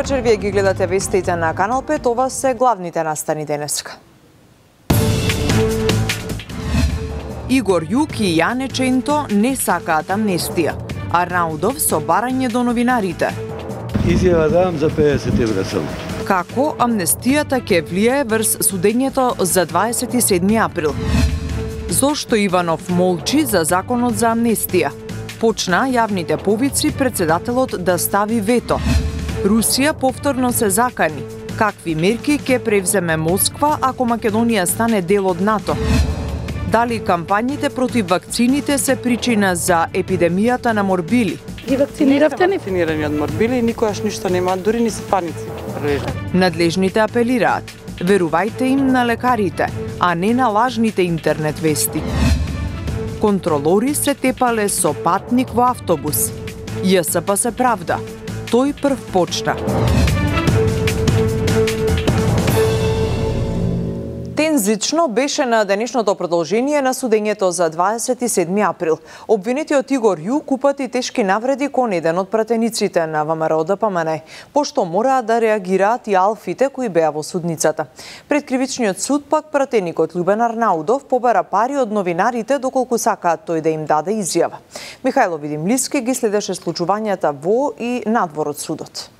Добар вечер, вие ги гледате вестите на Канал 5, ова се главните настани денеска. Игор Јук и Јане Ченто не сакаат амнестија. Арнаудов со барање до новинарите. Изјава давам за 50 евра само. Како амнестијата ќе влијае врз судењето за 27 април? Зошто Иванов молчи за законот за амнестија? Почна јавните повици председателот да стави вето. Русија повторно се закани. Какви мерки ќе превземе Москва ако Македонија стане дел од НАТО? Дали кампањите против вакцините се причина за епидемијата на морбили? Ги вакциниравте ни? Вакцинирани од морбили и никогаш ништо нема, дури ни се паници. Надлежните апелираат. Верувајте им на лекарите, а не на лажните интернет вести. Контролори се тепале со патник во автобус. ЈСП се правда. Тој прв почна. Тензично беше на денешното продолжение на судењето за 27 април. Обвинетиот Игор Јук упати тешки навреди кон еден од пратениците на ВМРО ДПМН, пошто мораа да реагираат и алфите кои беа во судницата. Пред кривичниот суд пак пратеникот Љубен Арнаудов побара пари од новинарите доколку сакаат тој да им даде изјава. Михајло Видимлиски ги следеше случувањата во и надвор од судот.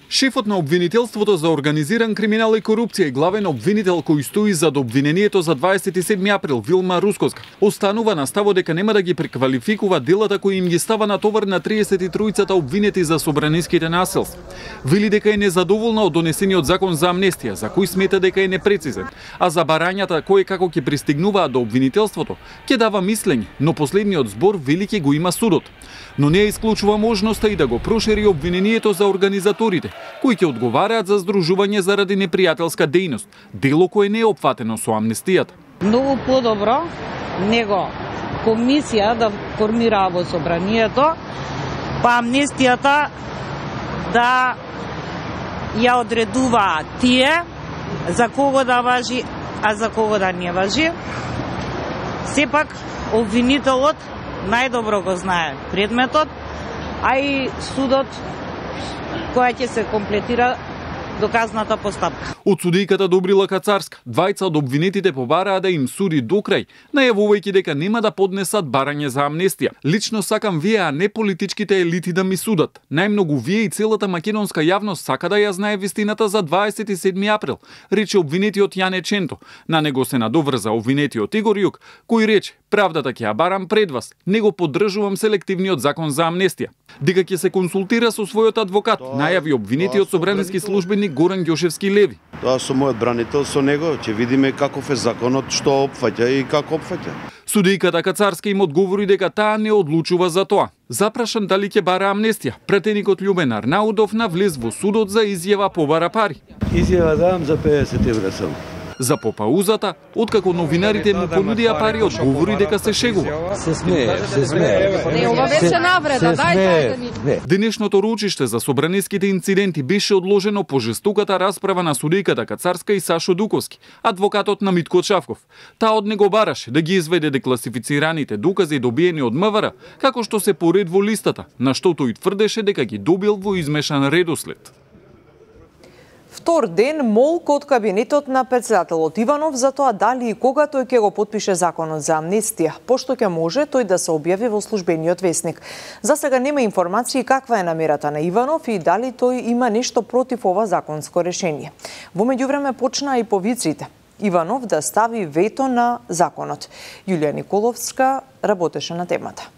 Шефот на обвинителството за организиран криминал и корупција и главен обвинител кој стои зад обвинението за 27 април Вилма Русковска останува на ставот дека нема да ги преквалификува делата кои им ги става на товар на 33-цата обвинети за собраниските насилства. Вели дека е незадоволна од донесениот закон за амнестија, за кој смета дека е непрецизен, а за барањата кои како ќе пристигнуваат до обвинителството ќе дава мислење, но последниот збор вели ќе го има судот. Но не исклучува можноста и да го прошири обвинението за организаторите, кои ќе одговараат за здружување заради непријателска дејност, дело кое не е опфатено со амнестијата. Многу подобро него комисија да формира во собранието, па амнестијата да ја одредуваат тие за кого да важи, а за кого да не важи. Сепак обвинителот најдобро го знае предметот, а и судот која ќе се комплетира доказната постапка. Од судијката Добрила Кацарска, двајца од обвинетите побараа да им суди до крај, најавувајќи дека нема да поднесат барање за амнестија. Лично сакам вие, а не политичките елити да ми судат. Најмногу вие и целата македонска јавност сака да ја знае вистината за 27 април, рече обвинетиот Јане Ченто. На него се надоврза обвинетиот Игор Јук, кој рече: правдата ќе ја барам пред вас, не го поддржувам селективниот закон за амнестија. Дека ќе се консултира со својот адвокат, најави обвинетиот собрански службеник Горан Ѓошевски Леви. Тоа со мојот бранител, со него ќе видиме каков е законот, што опфаќа и како опфаќа. Судијката Кацарска им одговори дека таа не одлучува за тоа. Запрашан дали ќе бара амнестија, пратеникот Љубен Арнаудов навлез во судот за изјава побара пари. Изјава давам за 50 евра само. За попаузата, откако новинарите му понудија пари, одговори дека се шегува. Се смее. Не, ова беше навреда, дај ни. Денешното рочиште за собраниските инциденти беше одложено по жестоката расправа на судијката Кацарска и Сашо Дуковски, адвокатот на Митко Чавков. Таа од него бараше да ги изведе декласифицираните докази добиени од МВР, како што се поред во листата, на што тој тврдеше дека ги добил во измешан редослед. Втор ден молк од кабинетот на председателот Иванов за тоа дали и кога тој ќе го потпише законот за амнестија, пошто ќе може тој да се објави во службениот весник. За сега нема информации каква е намерата на Иванов и дали тој има нешто против ова законско решение. Во меѓувреме почнаа и повиците. Иванов да стави вето на законот. Јулија Николовска работеше на темата.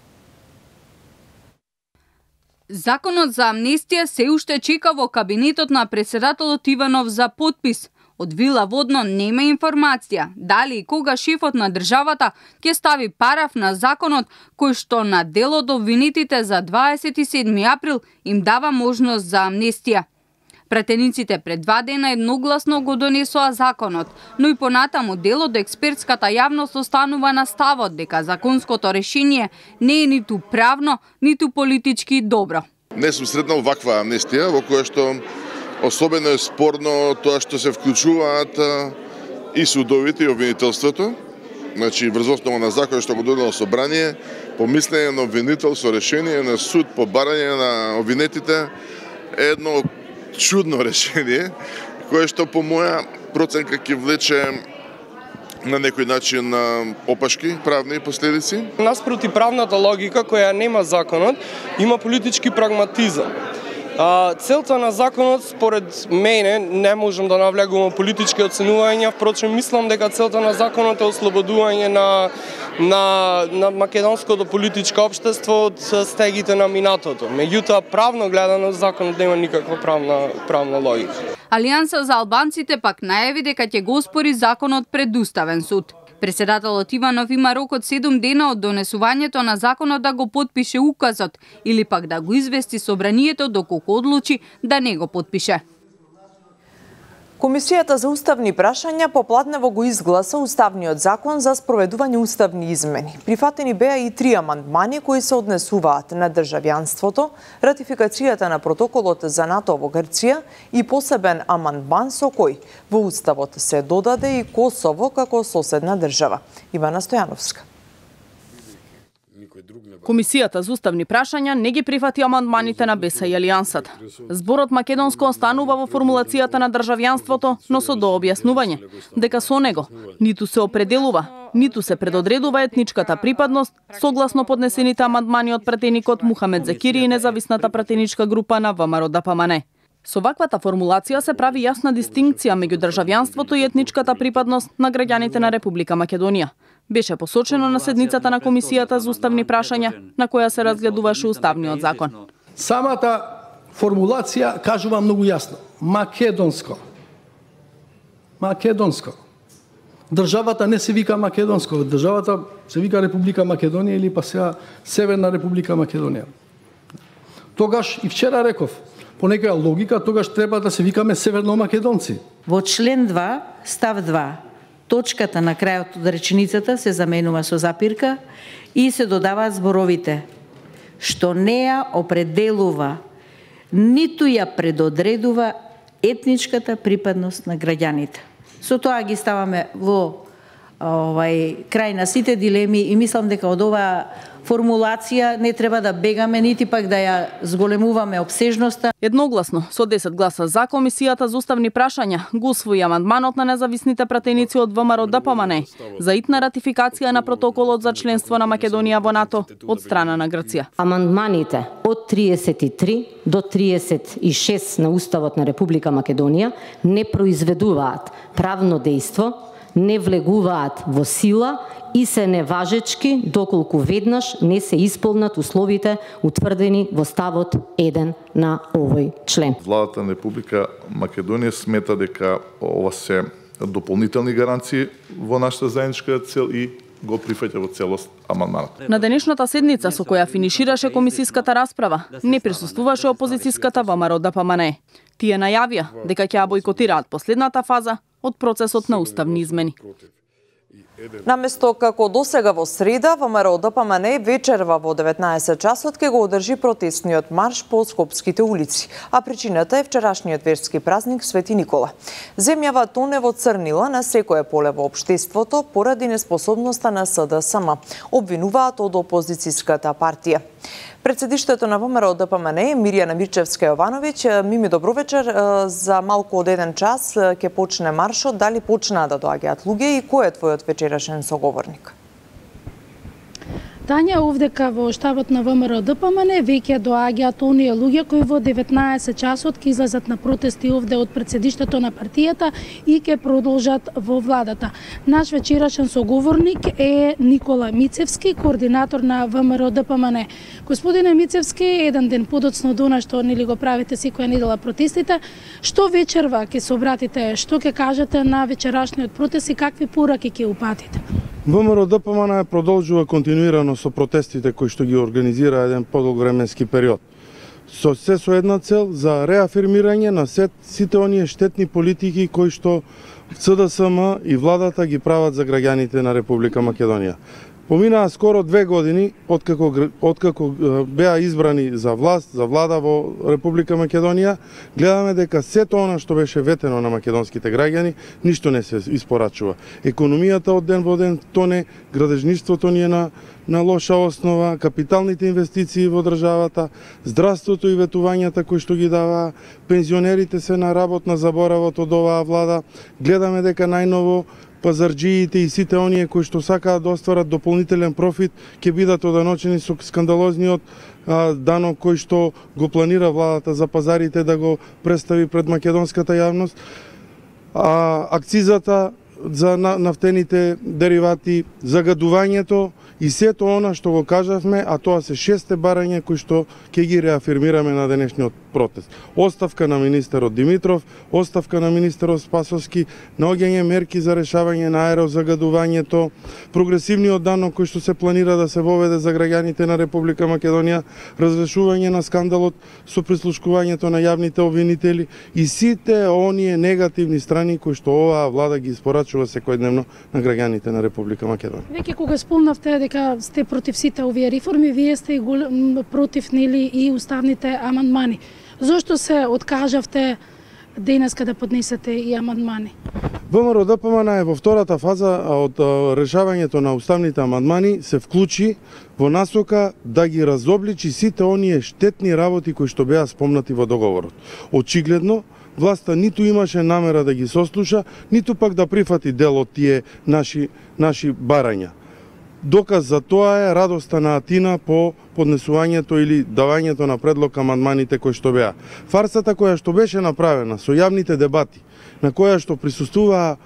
Законот за амнестија се уште чека во кабинетот на председателот Иванов за потпис. Од Вила Водно нема информација дали и кога шефот на државата ќе стави параф на законот кој што на дел од обвинетите за 27 април им дава можност за амнестија. Пратениците пред 2 дена едногласно го донесоа законот, но и понатаму дел од експертската јавност останува на ставот дека законското решение не е ниту правно, ниту политички добро. Не сум сретнал ваква амнестија во која што особено е спорно тоа што се вклучуваат и судовите и обвинителството, значи врз основа на закон што го донело собрание, помислене на обвинител со решение на суд по барање на обвинетите е едно чудно решение, кое што по моја проценка ќе влече на некој начин опашки, правни последици. Наспроти правната логика која нема законот, има политички прагматизам. Целта на законот, според мене, не можам да навлегувам политички оценувања, впрочем мислам дека целта на законот е ослободување на македонското политичко општество од стегите на минатото. Меѓутоа, правно гледано, законот нема никаква правна логика. Алијанса за албанците пак најави дека ќе го оспори законот пред Уставен суд. Преседателот Иванов има рок од 7 дена од донесувањето на законот да го потпише указот или пак да го извести собранието доколку одлучи да не го потпише. Комисијата за уставни прашања попладнево го изгласа Уставниот закон за спроведување уставни измени. Прифатени беа и 3 амандмани кои се однесуваат на државјанството, ратификацијата на протоколот за НАТО во Грција и посебен амандман со кој во Уставот се додаде и Косово како соседна држава. Ивана Стојановска. Комисијата за уставни прашања не ги прифати амандманите на БЕСА и Алијансата. Зборот македонско останува во формулацијата на државјанството, но со дообјаснување дека со него ниту се определува, ниту се предодредува етничката припадност, согласно поднесените амандмани од пратеникот Мухамед Закири и независната пратеничка група на ВМРО-ДПМН. Со ваквата формулација се прави јасна дистинкција меѓу државјанството и етничката припадност на граѓаните на Република Македонија. Беше посочено на седницата на Комисијата за уставни прашања, на која се разгледуваше Уставниот закон. Самата формулација кажува многу јасно. Македонско. Македонско. Државата не се вика Македонско, државата се вика Република Македонија или па сега Северна Република Македонија. Тогаш и вчера реков, по некоја логика, тогаш треба да се викаме северномакедонци. Во член 2, став 2, точката на крајот од реченицата се заменува со запирка и се додаваат зборовите што не ја определува, ниту ја предодредува етничката припадност на граѓаните. Со тоа ги ставаме во крај на сите дилеми и мислам дека од оваа формулација не треба да бегаме, нити пак да ја зголемуваме обсежноста. Едногласно, со 10 гласа за, Комисијата за уставни прашања го усвои амандманот на независните пратеници од ВМРО-ДПМН за итна ратификација на протоколот за членство на Македонија во НАТО од страна на Грција. Амандманите од 33 до 36 на Уставот на Република Македонија не произведуваат правно дејство, не влегуваат во сила и се неважечки доколку веднаш не се исполнат условите утврдени во ставот 1 на овој член. Владата на Република Македонија смета дека ова се дополнителни гаранции во нашата заедничка цел и го прифаќа во целост амандманот. На денешната седница со која финишираше комисиската расправа, не присуствуваше опозицијската ВМРО-ДПМН. Тие најавија дека ќе ја бойкотираат последната фаза од процесот на уставни измени. Наместо како досега во среда, ВМРО-ДПМН вечерва во 19 часот ќе го одржи протестниот марш по скопските улици, а причината е вчерашниот верски празник Свети Никола. Земјава тоне во црнила на секое поле во општеството поради неспособноста на СДСМ, обвинуваат од опозицијската партија. Председиштето на ВМРО-ДПМН Мирјана Мирчевска-Јовановиќ, Мими, добро вечер. За малку од 1 час ќе почне маршот. Дали почнаа да доаѓаат луѓе и кој е твојот вечерашен соговорник? Тања, овдека во штабот на ВМРО-ДПМН веќе доаѓаат оние луѓе кои во 19 часот ќе излезат на протести овде од председиштето на партијата и ќе продолжат во владата. Наш вечерашен соговорник е Никола Мицевски, координатор на ВМРО-ДПМН. Господине Мицевски, еден ден подоцно до она што нели го правите секоја недела протестите, што вечерва ќе се обратите, што ќе кажете на вечерашниот протест и какви пораки ќе упатите? ВМРО-ДПМН продолжува континуирано со протестите кои што ги организира еден подолг временски период. Со една цел за реафирмирање на сите оние штетни политики кои што СДСМ и владата ги прават за граѓаните на Република Македонија. Поминаа скоро 2 години откако беа избрани за власт, за влада во Република Македонија, гледаме дека сето она што беше ветено на македонските граѓани, ништо не се испорачува. Економијата од ден во ден тоне, градежништвото ни е на лоша основа, капиталните инвестиции во државата, здравството и ветувањата кои што ги дава, пензионерите се на работна заборавот од оваа влада. Гледаме дека најново пазарџиите и сите оние кои што сакаат да остварат дополнителен профит ќе бидат оданочени со скандалозниот данок кој што го планира владата за пазарите да го представи пред македонската јавност. Акцизата за нафтените деривати, загадувањето и сето она што го кажавме, а тоа се 6 барања кои што ќе ги реафирмираме на денешниот протест. Оставка на министерот Димитров, оставка на министерот Спасовски, наоѓање мерки за решавање на аерозагадувањето, прогресивниот данок кој што се планира да се воведе за граѓаните на Република Македонија, разрешување на скандалот со прислушкувањето на јавните обвинители и сите оние негативни страни кои што оваа влада ги испорачува секојдневно на граѓаните на Република Македонија. Веќе кога спомнавте дека сте против сите овие реформи, вие сте и против нели и уставните амандмани. Зошто се откажавте денеска да поднесете и амандмани? ВМРО-ДПМН е во втората фаза од решавањето на уставните амандмани се вклучи во насока да ги разобличи сите оние штетни работи кои што беа спомнати во договорот. Очигледно, власта ниту имаше намера да ги сослуша, ниту пак да прифати дел од тие наши барања. Доказ за тоа е радоста на Атина по поднесувањето или давањето на предлог амандманите кои што беа. Фарсата која што беше направена со јавните дебати, на која што присуствуваа,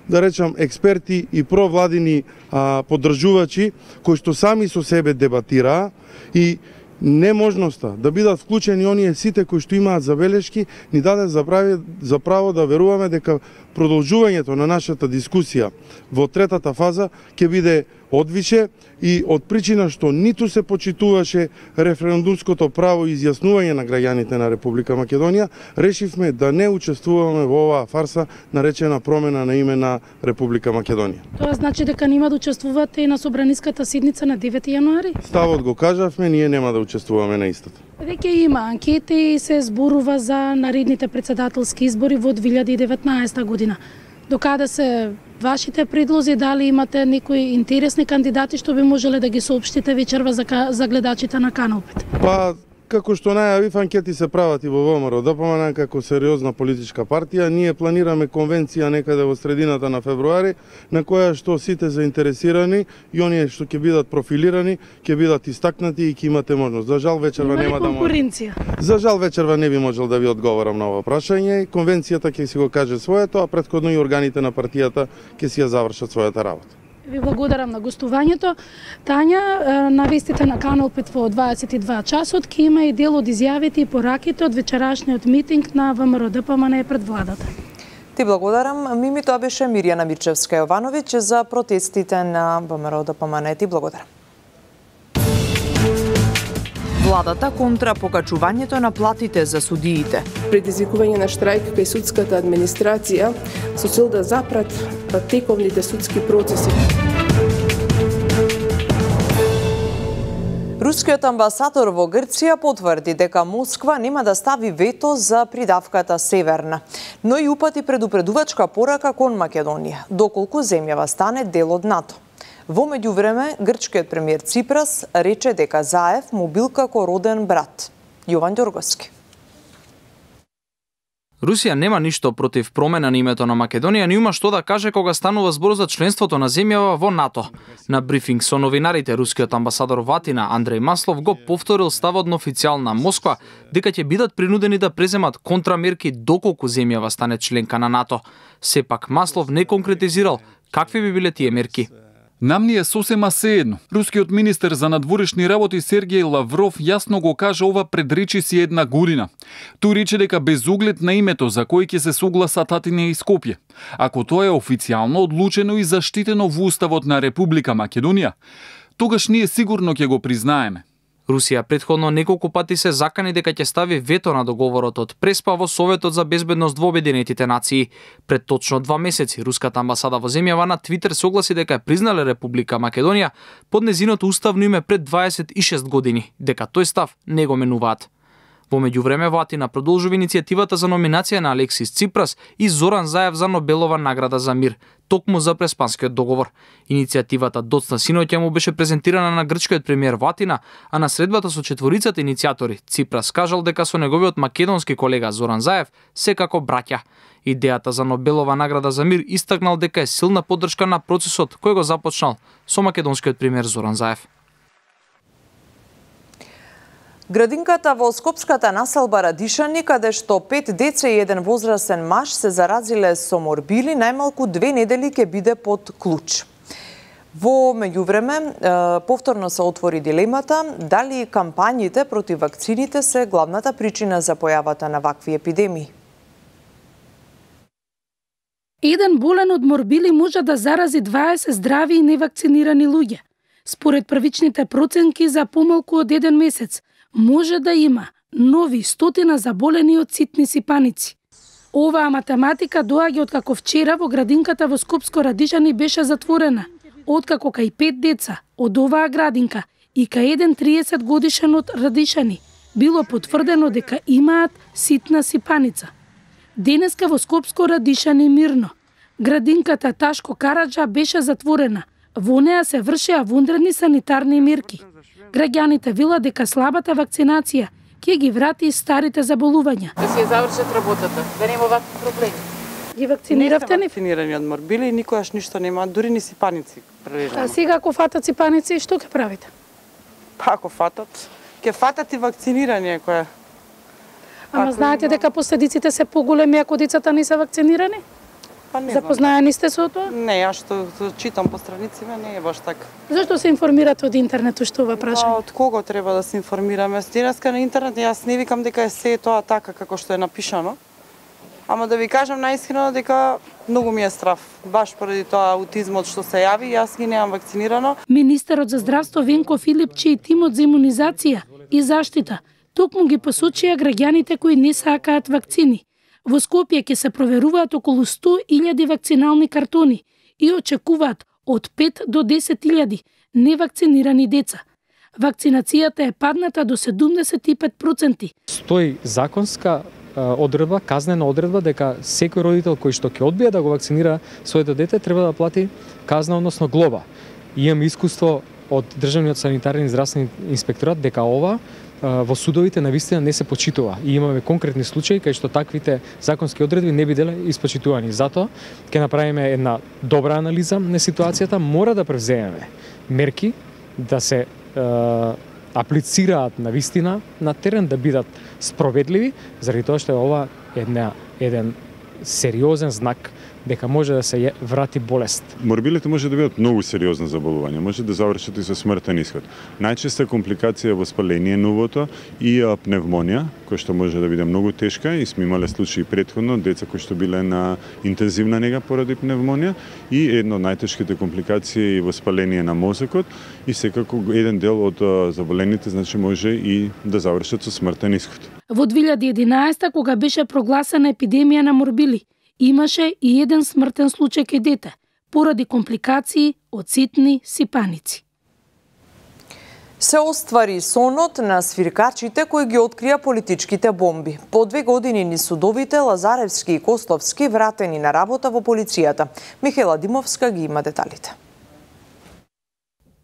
да речам, експерти и провладини поддржувачи, кои што сами со себе дебатираа и неможноста да бидат вклучени оние сите кои што имаат забелешки, ни даде за право да веруваме дека продолжувањето на нашата дискусија во третата фаза ќе биде одвише и од причина што ниту се почитуваше референдумското право и изјаснување на граѓаните на Република Македонија, решивме да не учествуваме во оваа фарса наречена промена на име на Република Македонија. Тоа значи дека нема да учествувате и на собраниската седница на 9 јануари? Ставот го кажавме, ние нема да учествуваме на истата. Веќе има анкети и се зборува за наредните председателски избори во 2019 година. Докаде се вашите предлози, дали имате некои интересни кандидати што би можеле да ги соопштите вечерва за гледачите на Канал 5? Како што најавив, анкети се прават и во ВМРО-ДПМН како сериозна политичка партија. Ние планираме конвенција некаде во средината на февруари, на која што сите заинтересирани и оние што ќе бидат профилирани, ќе бидат истакнати и ќе имате можност. За жал вечерва нема да може. За жал вечерва не би можел да ви одговорам на ова прашање. Конвенцијата ќе си го каже своето, а претходно и органите на партијата ќе си ја завршат својата работа. Ви благодарам на гостувањето. Тања, на вестите на Канал 5 во 22 часот ќе има и дел од изјавите и пораките од вечерашниот митинг на ВМРО-ДПМН пред владата. Ти благодарам. Мими, тоа беше Мирјана Мирчевска-Јовановиќ за протестите на ВМРО-ДПМН. Ти благодарам. Владата контра покачувањето на платите за судиите. Предизвикување на штрајк кај судската администрација со цел да запрат тековните судски процеси. Рускиот амбасадор во Грција потврди дека Москва нема да стави вето за придавката Северна, но и упати предупредувачка порака кон Македонија, доколку земјава стане дел од НАТО. Во меѓувреме, грчкиот премиер Ципрас рече дека Заев му бил како роден брат. Јован Ѓорговски. Русија нема ништо против промена на името на Македонија, не има што да каже кога станува збор за членството на земјава во НАТО. На брифинг со новинарите, рускиот амбасадор во Атина Андреј Маслов го повторил ставот на официјална Москва дека ќе бидат принудени да преземат контрамерки доколку земјава стане членка на НАТО. Сепак Маслов не конкретизирал какви би биле тие мерки. Нам ни е сосема сеедно. Рускиот министер за надворешни работи Сергеј Лавров јасно го кажа ова пред речиси 1 година. Тој рече дека без оглед на името за кој ќе се согласат Атина и Скопје, ако тоа е официјално одлучено и заштитено во Уставот на Република Македонија, тогаш ние сигурно ќе го признаеме. Русија претходно неколку пати се закани дека ќе стави вето на договорот од Преспа во Советот за безбедност во Обединетите нации. Пред точно 2 месеци руската амбасада во земјава на Твитер се огласи дека е признале Република Македонија под незиното уставно име пред 26 години, дека тој став не го менуваат. Во меѓувреме во Атина продолжува иницијативата за номинација на Алексис Ципрас и Зоран Заев за Нобелова награда за мир, токму за Преспанскиот договор. Иницијативата доцна синоќа му беше презентирана на грчкиот премиер во Атина, а на средбата со четворицата иницијатори Ципрас кажал дека со неговиот македонски колега Зоран Заев секако браќа. Идејата за Нобелова награда за мир истакнал дека е силна поддршка на процесот кој го започнал со македонскиот премиер Зоран Заев. Градинката во скопската населба Радишани, каде што 5 деца и 1 возрастен маж се заразиле со морбили, најмалку 2 недели ќе биде под клуч. Во меѓувреме, повторно се отвори дилемата дали кампањите против вакцините се главната причина за појавата на вакви епидемии. Еден болен од морбили може да зарази 20 здрави и невакцинирани луѓе. Според првичните проценки за помалку од 1 месец, може да има нови 100 заболени од ситни сипаници. Оваа математика доаѓа откако вчера во градинката во Скопско Радишани беше затворена, откако кај 5 деца од оваа градинка и кај еден 30 годишен од Радишани било потврдено дека имаат ситна сипаница. Денеска во Скопско Радишани мирно. Градинката Ташко Караджа беше затворена. Во неа се вршеа вонредни санитарни мерки. Граѓаните велат дека слабата вакцинација ќе ги врати старите заболувања. Да се завршат работата, да нема вакви проблеми. Ги вакциниравте ни? Вакцинирани од морбили и никогаш ништо нема, дури ни сипаници прележано. А сега ако фатат сипаници, што ќе правите? Па ако фатат, ќе фатат и вакцинирање која. Ама знаете дека последиците се поголеми ако децата не се вакцинирани? Па не. Запознаени сте со тоа? Не, јас што читам по страниците не е баш така. Зашто се информирате од интернет што ова прашање? Од кого треба да се информираме? Денеска на интернет јас не викам дека е се тоа така како што е напишано. Ама да ви кажам најискрено дека многу ми е страв. Баш поради тоа аутизмот што се јави, јас ги немам вакцинирано. Министерот за здравство Венко Филипчи и тимот за имунизација и заштита токму ги посочија граѓаните кои не сакаат вакцини. Во Скопје ќе се проверуваат околу 100.000 вакцинални картони и очекуваат од 5 до 10.000 невакцинирани деца. Вакцинацијата е падната до 75%. Стои законска одредба, казнена одредба дека секој родител кој што ќе одбие да го вакцинира своето дете треба да плати казна, односно глоба. Имам искуство од Државниот санитарен и здравствен инспекторат дека ова во судовите навистина не се почитува и имаме конкретни случаи кај што таквите законски одредби не биделе испочитувани. Затоа ќе направиме една добра анализа на ситуацијата, мора да превземеме мерки да се аплицираат навистина на терен, да бидат спроведливи, заради тоа што ова е еден сериозен знак дека може да се врати болест. Морбилите може да бидат многу сериозно заболување, може да завршат и со смртен исход. Најчеста компликација е воспаление на увото и пневмонија, која што може да биде многу тешка и сме имале случаи претходно, деца кои што биле на интензивна нега поради пневмонија и една од најтешките компликации е воспаление на мозокот и секако еден дел од заболените значи може и да завршат со смртен исход. Во 2011 кога беше прогласена епидемија на морбили, имаше и еден смртен случај кај дете, поради компликации од ситни сипаници. Се оствари сонот на свиркачите кои ги открија политичките бомби. По 2 години ни судовите Лазаревски и Костовски вратени на работа во полицијата. Михаела Димовска ги има деталите.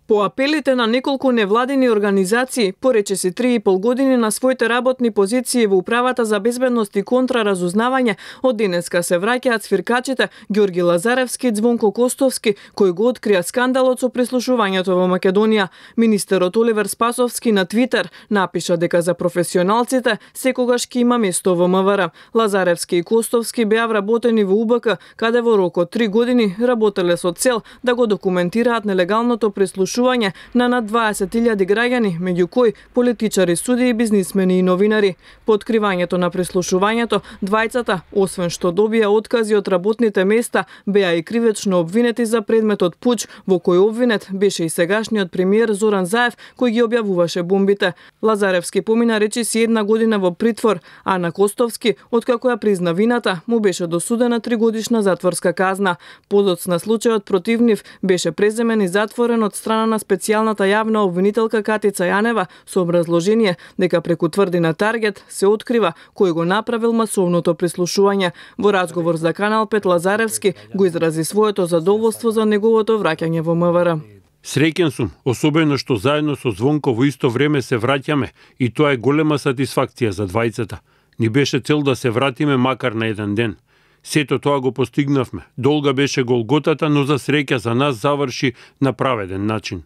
По апелите на неколку невладини организации, порече 3,5 години на своите работни позиции во Управата за безбедност и контраразузнавање, од денеска се враќаат свиркачите Ѓорги Лазаревски и Ѕвонко Костовски, кои го открија скандалот со прислушувањето во Македонија. Министерот Оливер Спасовски на Твитер напиша дека за професионалците секогаш ќе има место во МВР. Лазаревски и Костовски беа вработени во УБК, каде во рок од 3 години работеле со цел да го документираат нелегалното прислушување прислушување на над 20.000 граѓани, меѓу кои политичари, судии, бизнисмени и новинари. По откривањето на прислушувањето, двајцата, освен што добија откази од работните места, беа и кривечно обвинети за предметот пуч, во кој обвинет беше и сегашниот премиер Зоран Заев, кој ги објавуваше бомбите. Лазаревски помина речиси 1 година во притвор, а на Костовски, откако ја призна вината, му беше досудена 3-годишна затворска казна. Подоцна случајот против нив беше преземен и затворен од страна на специјалната јавна обвинителка Катица Јанева со образложение дека преку тврдина Таргет се открива кој го направил масовното прислушување. Во разговор за Канал 5 Лазаревски го изрази своето задоволство за неговото враќање во МВР. Среќен сум, особено што заедно со Звонко во исто време се враќаме и тоа е голема сатисфакција за двајцата. Ни беше цел да се вратиме макар на еден ден. Сето тоа го постигнавме. Долга беше голготата, но за среќа за нас заврши на праведен начин.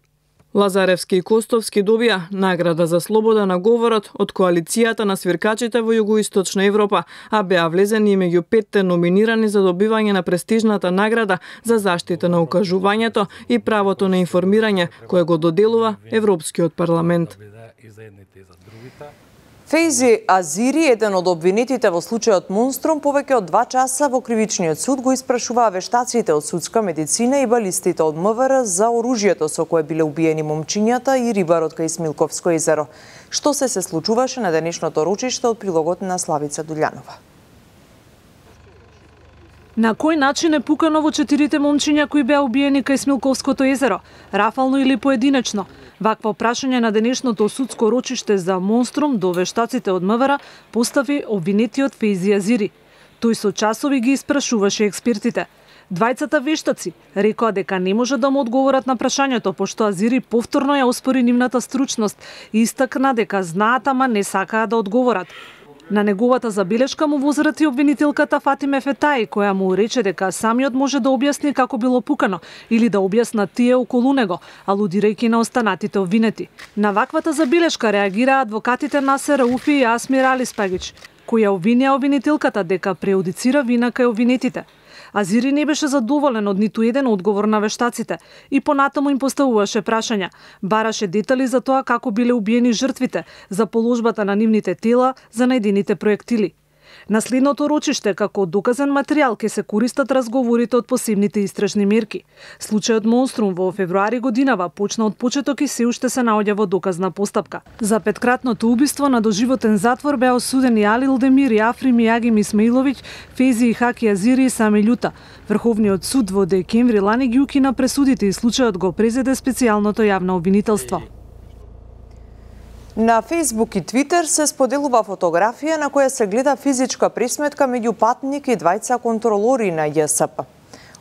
Лазаревски и Костовски добија награда за слобода на говорот од коалицијата на свиркачите во Југоисточна Европа, а беа влезени меѓу 5 номинирани за добивање на престижната награда за заштита на укажувањето и правото на информирање, кое го доделува Европскиот парламент. Фейзи Азири, еден од обвинетите во случајот Монструм, повеќе од 2 часа во кривичниот суд го испрашуваа вештаците од судска медицина и балистите од МВР за оружјето со кое биле убиени момчињата и рибарот кај Смилковско езеро. Што се случуваше на денешното рочиште од прилогот на Славица Дуљанова. На кој начин е пукано во 4 момчиња кои беа убиени кај Смилковското езеро? Рафално или поединечно? Вакво прашање на денешното судско рочиште за Монструм до вештаците од МВР постави обвинетиот Фейзи Азири. Тој со часови ги испрашуваше експертите. Двајцата вештаци рекоа дека не може да му одговорат на прашањето, пошто Азири повторно ја оспори нивната стручност и истакна дека знаат, ама не сакаа да одговорат. На неговата забелешка му возрати обвинителката Фатиме Фетаи, која му рече дека самиот може да објасни како било пукано или да објаснат тие околу него, алудирајќи на останатите обвинети. На ваквата забелешка реагираа адвокатите Насер Рауфи и Асмир Алиспагич, која обвинија обвинителката дека преудицира вина кај обвинетите. Азири не беше задоволен од ниту еден одговор на вештаците и понатаму им поставуваше прашања. Бараше детали за тоа како биле убиени жртвите, за положбата на нивните тела, за најдените проектили. На следното рочиште, како доказен материјал, ќе се користат разговорите од посебните истражни мерки. Случајот Монструм во февруари годинава почна од почеток и се уште се наоѓа во доказна постапка. За 5-кратното убиство на доживотен затвор беа осудени Али Илдемир и Африм Јагим Исмаиловиќ, Фейзи и Хаки Азири и Сами Љута. Врховниот суд во декември лани ги укина пресудите и случајот го презеде специјалното јавно обвинителство. На Фейсбук и Твитер се споделува фотографија на која се гледа физичка пресметка меѓу патник и двајца контролори на ЈСП.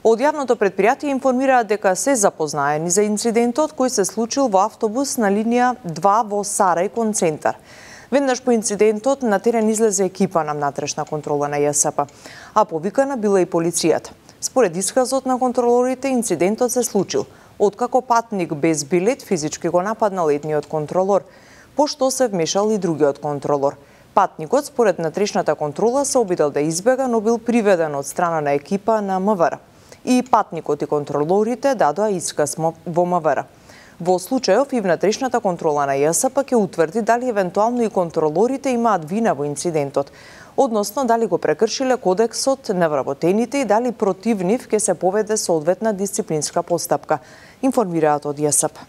Од јавното предпријатие информираат дека се запознаени за инцидентот кој се случил во автобус на линија 2 во Сарај кон центар. Веднаш по инцидентот на терен излезе екипа на внатрешна контрола на ЈСП, а повикана била и полицијата. Според исказот на контролорите, инцидентот се случил откако патник без билет физички го нападнал едниот контролор, пошто се вмешал и другиот контролор. Патникот, според внатрешната контрола, се обидел да избега, но бил приведен од страна на екипа на МВР. И патникот и контролорите дадоа исказ во МВР. Во случајов и внатрешната контрола на ЈСП ќе утврди дали евентуално и контролорите имаат вина во инцидентот, односно дали го прекршиле кодексот на вработените и дали против нив ќе се поведе соодветна дисциплинска постапка, информираат од ЈСП.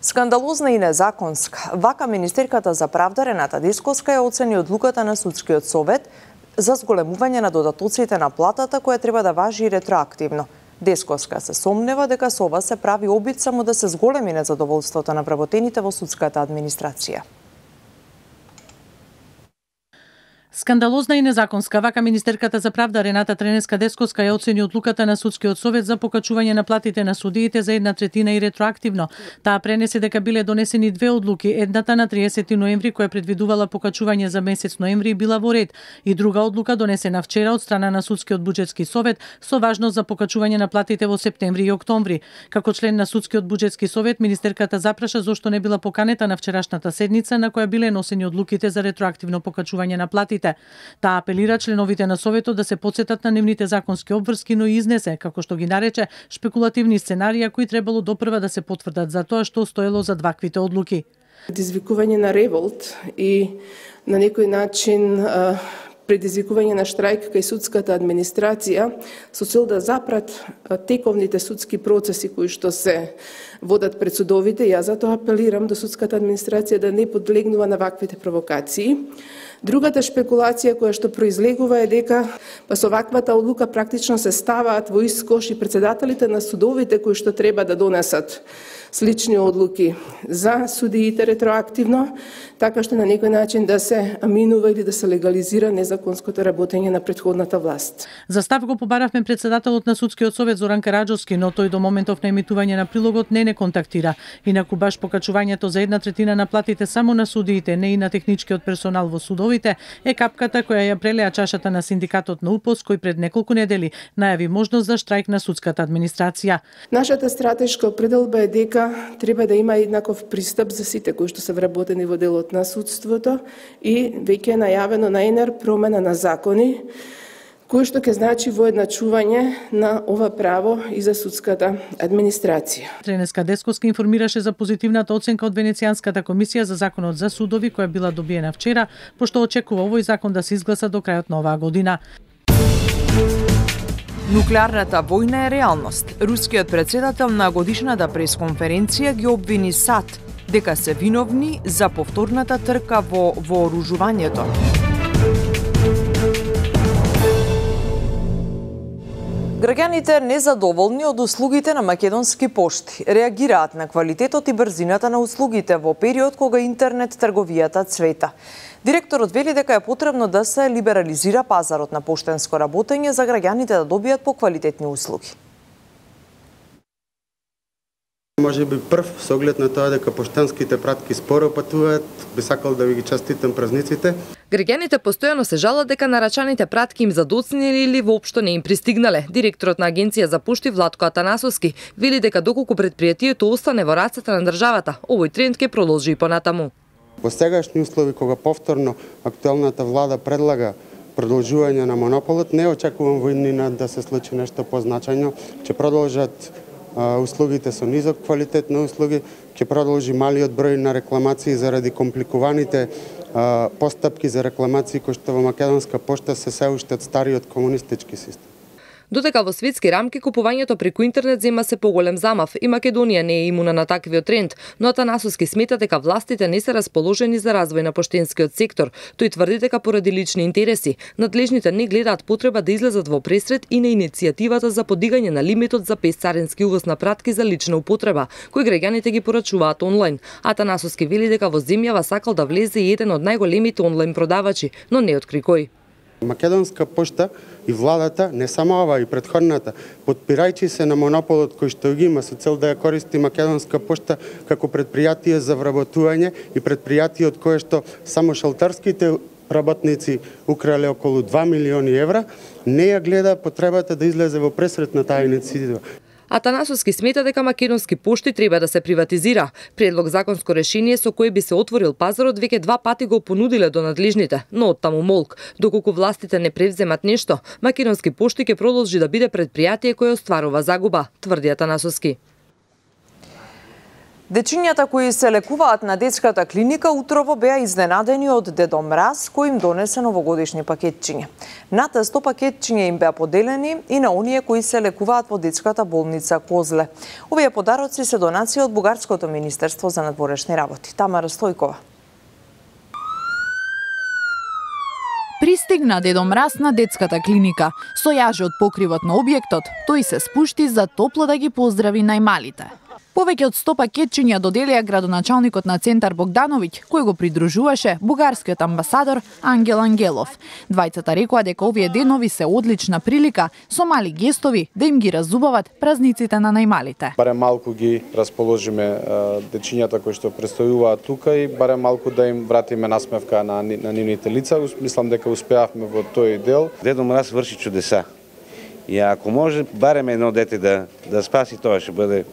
Скандалозна и незаконска. Вака министерката за правда Рената Десковска ја оцени одлуката на судскиот совет за зголемување на додатоците на платата која треба да важи ретроактивно. Десковска се сомнева дека со ова се прави обид само да се зголеми незадоволството на вработените во судската администрација. Скандалозна и незаконска. Вака министерката за правда Рената Тренеска Десковска ја оцени одлуката на судскиот совет за покачување на платите на судиите за 1/3 и ретроактивно. Таа пренесе дека биле донесени 2 одлуки, едната на 30 ноември која предвидувала покачување за месец ноември била во ред и друга одлука донесена вчера од страна на судскиот буџетски совет со важност за покачување на платите во септември и октомври. Како член на судскиот буџетски совет, министерката запраша зошто не била поканета на вчерашната седница на која биле носени одлуките за ретроактивно покачување на платите. судиите. Таа апелира членовите на Советот да се потсетат на нивните законски обврски, но и изнесе, како што ги нарече, шпекулативни сценарија кои требало допрва да се потврдат за тоа што стоело за ваквите одлуки. Предизвикување на револт и на некој начин предизвикување на штрајк кај судската администрација со цел да запрат тековните судски процеси кои што се водат пред судовите. Јас затоа апелирам до судската администрација да не подлегнува на ваквите провокации. Другата шпекулација која што произлегува е дека со ваквата одлука практично се ставаат во ист кош и председателите на судовите кои што треба да донесат слични одлуки за судиите ретроактивно, така што на некој начин да се аминува или да се легализира незаконското работење на претходната власт. За став го побаравме председателот на Судскиот совет Зоран Караџовски, но тој до моментов на емитување на прилогот не контактира. Инаку баш покачувањето за 1/3 на платите само на судиите, не и на техничкиот персонал во судовите, е капката која ја прелеа чашата на синдикатот на УПОС, кој пред неколку недели најави можност за штрајк на судската администрација. Нашата стратешка определба е дека треба да има еднаков пристап за сите кои што се вработени во делот на судството и веќе е најавено на ЕНР промена на закони кој што ќе значи воедначување на ова право и за судската администрација. Тренеска Десковска информираше за позитивната оценка од Венецијанската комисија за законот за судови која била добиена вчера, пошто очекува овој закон да се изгласа до крајот на оваа година. Нуклеарната војна е реалност. Рускиот председател на годишната пресконференција ги обвини САД дека се виновни за повторната трка во вооружувањето. Граѓаните незадоволни од услугите на македонски пошти реагираат на квалитетот и брзината на услугите во период кога интернет трговијата цвета. Директорот вели дека е потребно да се либерализира пазарот на поштенско работење за граѓаните да добијат поквалитетни услуги. Може би прв со оглед на тоа дека поштенските пратки споро патуваат, би сакал да ви ги честитам празниците. Граѓаните постојано се жалат дека нарачаните пратки им задоцнели или воопшто не им пристигнале. Директорот на Агенција за пошти Владко Атанасовски вели дека доколку предпријатието остане во рацете на државата, овој тренд ќе продолжи и понатаму. Во сегашни услови кога повторно актуелната влада предлага продолжување на монополот, не очекувам во иднина да се случи нешто позначајно, ќе продолжат услугите со низок квалитет на услуги, ќе продолжи малиот број на рекламации заради компликуваните постапки за рекламации кои што во македонска пошта се уште од стариот комунистички систем. Додека во светски рамки купувањето преку интернет зема се поголем замав и Македонија не е имуна на таквиот тренд, но Атанасовски смета дека властите не се расположени за развој на поштенскиот сектор. Тој тврди дека поради лични интереси, надлежните не гледаат потреба да излезат во пресред и на иницијативата за подигање на лимитот за песцарински увоз на пратки за лична употреба, кои граѓаните ги порачуваат онлайн. Атанасовски вели дека во земјава сакал да влезе и еден од најголемите онлайн продавачи, но не откри кој. Македонска пошта и владата, не само ова и претходната, подпирајќи се на монополот кој што ги има со цел да ја користи Македонска пошта како предпријатие за вработување и предпријатие од кое што само шалтарските работници украле околу 2 милиони евра, не ја гледа потребата да излезе во пресред на таа иницијатива. Атанасовски смета дека македонски пошти треба да се приватизира. Предлог законско решение со кое би се отворил пазарот веќе 2 пати го понудиле до надлежните, но оттаму молк. Доколку властите не превземат нешто, македонски пошти ќе продолжи да биде предпријатие кое остварува загуба, тврди Атанасовски. Дечињата кои се лекуваат на детската клиника утрово беа изненадени од Дедо Мраз кој им донесе новогодишни пакетчиња. Над 100 пакетчиња им беа поделени и на оние кои се лекуваат во детската болница Козле. Овие подароци се донации од Бугарското министерство за надворешни работи. Тамара Стојкова. Пристигна Дедо Мраз на детската клиника. Со јаже од покривот на објектот, тој се спушти за топло да ги поздрави најмалите. Повеќе од 100 пакетчиња доделија градоначалникот на Центар Богдановиќ, кој го придружуваше бугарскиот амбасадор Ангел Ангелов. Двајцата рекоа дека овие денови се одлична прилика со мали гестови да им ги разубават празниците на најмалите. Барем малку ги расположиме дечињата кои што престојуваат тука и барем малку да им вратиме насмевка на нивните лица. Мислам дека успеавме во тој дел. Дедо Мраз врши чудеса. И ако може барем едно дете да спаси, тоа ќе биде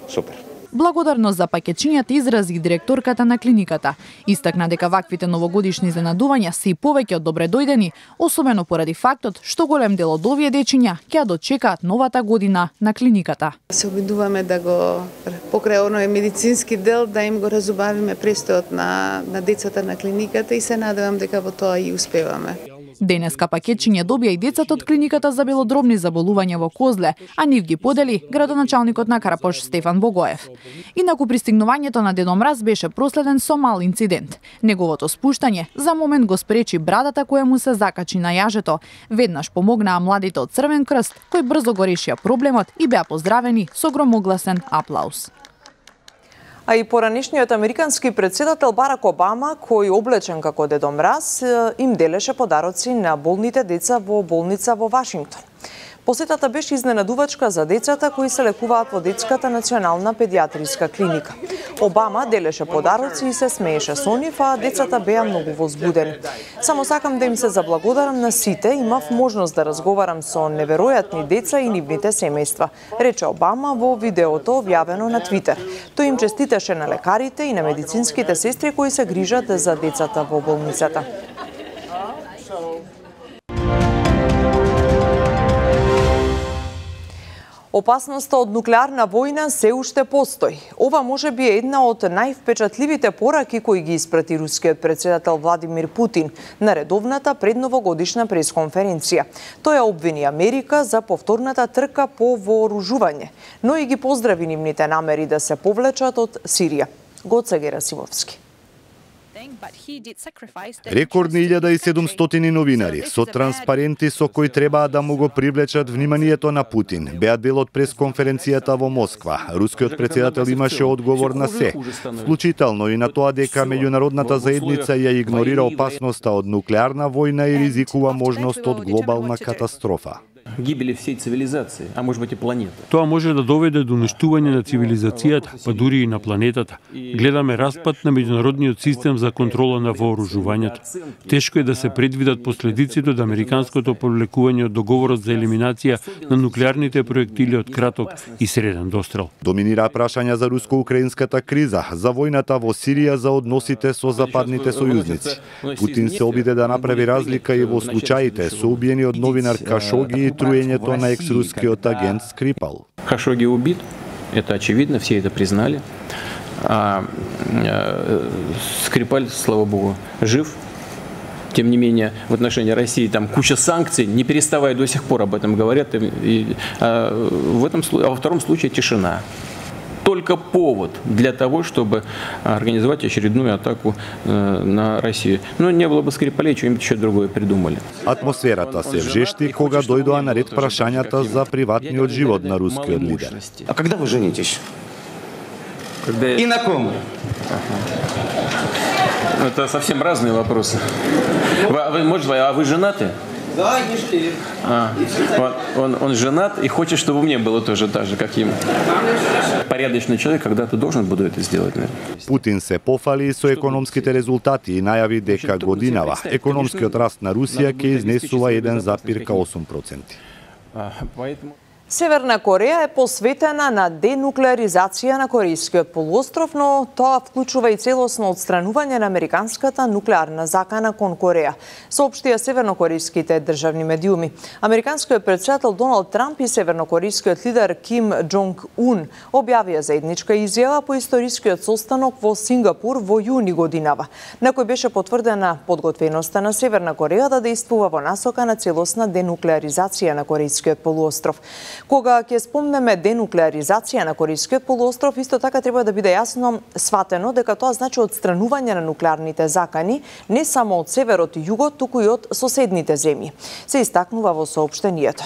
супер. Благодарност за пакетчињата изрази директорката на клиниката. Истакна дека ваквите новогодишни изненадувања се и повеќе од добредојдени, особено поради фактот што голем дел од овие дечиња ќе дочекаат новата година на клиниката. Се обидуваме да го покрај оној медицински дел да им го разубавиме престојот на децата на клиниката и се надевам дека во тоа и успеваме. Денеска пакетчиња добија и децата од клиниката за белодробни заболувања во Козле, а нив ги подели градоначалникот на Карапош Стефан Богоев. Инаку пристигнувањето на Дедо Мраз беше проследен со мал инцидент. Неговото спуштање за момент го спречи брадата која му се закачи на јажето. Веднаш помогнаа младите од Црвен крст, кои брзо го решија проблемот и беа поздравени со громогласен аплауз. А и поранешниот американски председател Барак Обама, кој облечен како Дедо Мраз, им делеше подароци на болните деца во болница во Вашингтон. Посетата беше изненадувачка за децата кои се лекуваат во детската национална педиатриска клиника. Обама делеше подароци и се смееше со нив, а децата беа многу возбудени. Само сакам да им се заблагодарам на сите, имав можност да разговарам со неверојатни деца и нивните семејства, рече Обама во видеото објавено на Твитер. Тој им честиташе на лекарите и на медицинските сестри кои се грижат за децата во болницата. Опасноста од нуклеарна војна се уште постои. Ова може би е една од највпечатливите пораки кои ги испрати рускиот председател Владимир Путин на редовната предновогодишна пресконференција. Тој ја обвини Америка за повторната трка по вооружување, но и ги поздрави нивните намери да се повлечат од Сирија. Гоце Герасимовски. Рекордни 1700 новинари со транспаренти со кои требаа да му го привлечат вниманието на Путин беа дел од пресконференцијата во Москва. Рускиот председател имаше одговор на се, вклучително и на тоа дека меѓународната заедница ја игнорира опасноста од нуклеарна војна и ризикува можност од глобална катастрофа. Гибели всей цивилизации, а може быть и планеты. Тоа може да доведе до уништување на цивилизацијата, па дури и на планетата. Гледаме распад на меѓународниот систем за контрола на вооружувањето. Тешко е да се предвидат последиците од американското повлекување од договорот за елиминација на нуклеарните проектили од краток и среден дострел. Доминира прашања за руско-украинската криза, за војната во Сирија, за односите со западните сојузници. Путин се обиде да направи разлика и во случаите со убиениот новинар Кашоги и труењето на екс-рускиот агент Скрипал. Хашоги убит, это очевидно, все это признали. Скрипаль, слава богу, жив. Тем не менее, в отношении России там куча санкций, не переставая до сих пор об этом говорят. А во втором случае тишина. Только повод для того, чтобы организовать очередную атаку на Россию. Но не было бы Скрипалей, что-нибудь еще другое придумали. Атмосферата се вжешти кога дојдоа на ред прашањата за приватниот живот на рускиот лидер. А когда вы женитесь? И на ком? Это совсем разные вопросы. А вы женаты? Да, ешли. Он женат и хочет, чтобы мне было тоже так же, как ему. Порядочный человек когда-то должен буду это сделать, наверное. Путин се пофали со економските резултати и најави дека годинава економскиот раст на Русија ќе изнесува 1,8%. Северна Кореја е посветена на денуклеаризација на Корејскиот полуостров, но тоа вклучува и целосно отстранување на американската нуклеарна закана кон Кореја, соопштија севернокорејските државни медиуми. Американскиот председател Доналд Трамп и севернокорејскиот лидер Ким Джонг Ун објавија заедничка изјава по историскиот состанок во Сингапур во јуни годинава, на кој беше потврдена подготвеноста на Северна Кореја да действува во насока на целосна денуклеаризација на Корејскиот полуостров. Кога ќе спомнеме денуклеаризација на Корејскиот полуостров, исто така треба да биде јасно сватено дека тоа значи отстранување на нуклеарните закани не само од северот и југот, туку и од соседните земји, се истакнува во соопштенијето.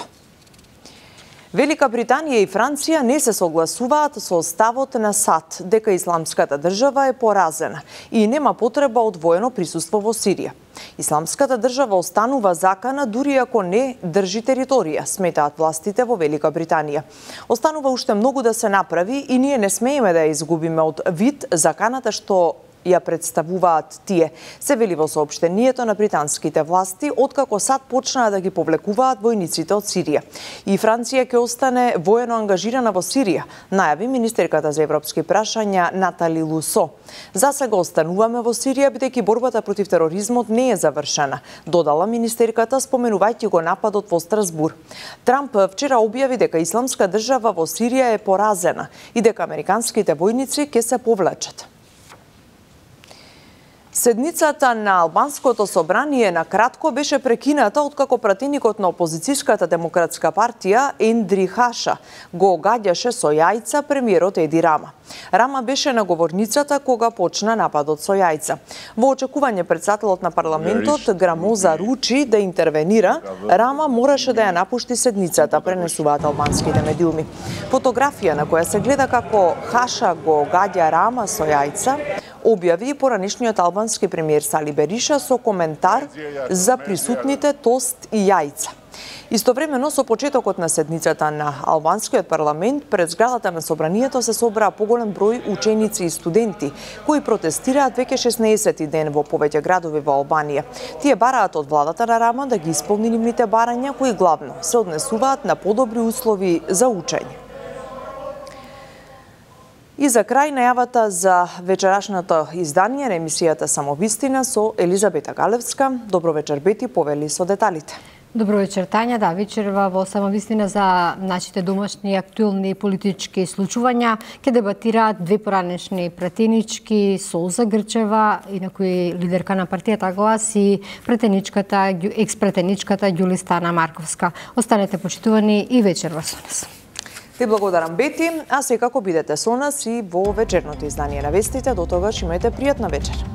Велика Британија и Франција не се согласуваат со ставот на САД дека Исламската држава е поразена и нема потреба од воено присуство во Сирија. Исламската држава останува закана дури ако не држи територија, сметаат властите во Велика Британија. Останува уште многу да се направи и ние не смееме да ја изгубиме од вид заканата што ја представуваат тие, се вели во соопштението на британските власти, откако САД почнаа да ги повлекуваат војниците од Сирија. И Франција ќе остане воено ангажирана во Сирија, најави министерката за европски прашања Натали Лусо. За сега остануваме во Сирија, бидејќи борбата против тероризмот не е завршена, додала министерката, споменувајќи го нападот во Страсбур. Трамп вчера објави дека Исламска држава во Сирија е поразена и дека американските војници ќе се повлечат. Седницата на албанското собрание на кратко беше прекината откако пратеникот на опозицијската демократска партија Ендри Хаша го огаѓаше со јајца премиерот Еди Рама. Рама беше на говорницата кога почна нападот со јајца. Во очекување претседателот на парламентот Грамоза Ручи да интервенира, Рама мораше да ја напушти седницата, пренесуваат албанските медиуми. Фотографија на која се гледа како Хаша го огаѓа Рама со јајца објави и поранешниот албански премиер Сали Бериша со коментар за присутните тост и јајца. Истовремено со почетокот на седницата на албанскиот парламент пред зградата на собранието се собраа поголем број ученици и студенти кои протестираат веќе 16 ден во повеќе градови во Албанија. Тие бараат од владата на Рама да ги исполни нивните барања кои главно се однесуваат на подобри услови за учење. И за крај најавата за вечерашното издание на емисијата Самовистина со Елизабета Галевска. Добро вечер, Бети, повели со деталите. Добро вечер, Тања. Да, вечерва во Самовистина за нашите домашни актуелни политички случувања ќе дебатираат две поранешни пратенички, Солза Грчева, инаку лидерка на партијата Глас, и екс-пратеничката Ѓулистана Марковска. Останете почитувани и вечерва со нас. Ти благодарам, Бети, а секако бидете со нас и во вечерното издание на вестите. До тогаш имајте пријатна вечер.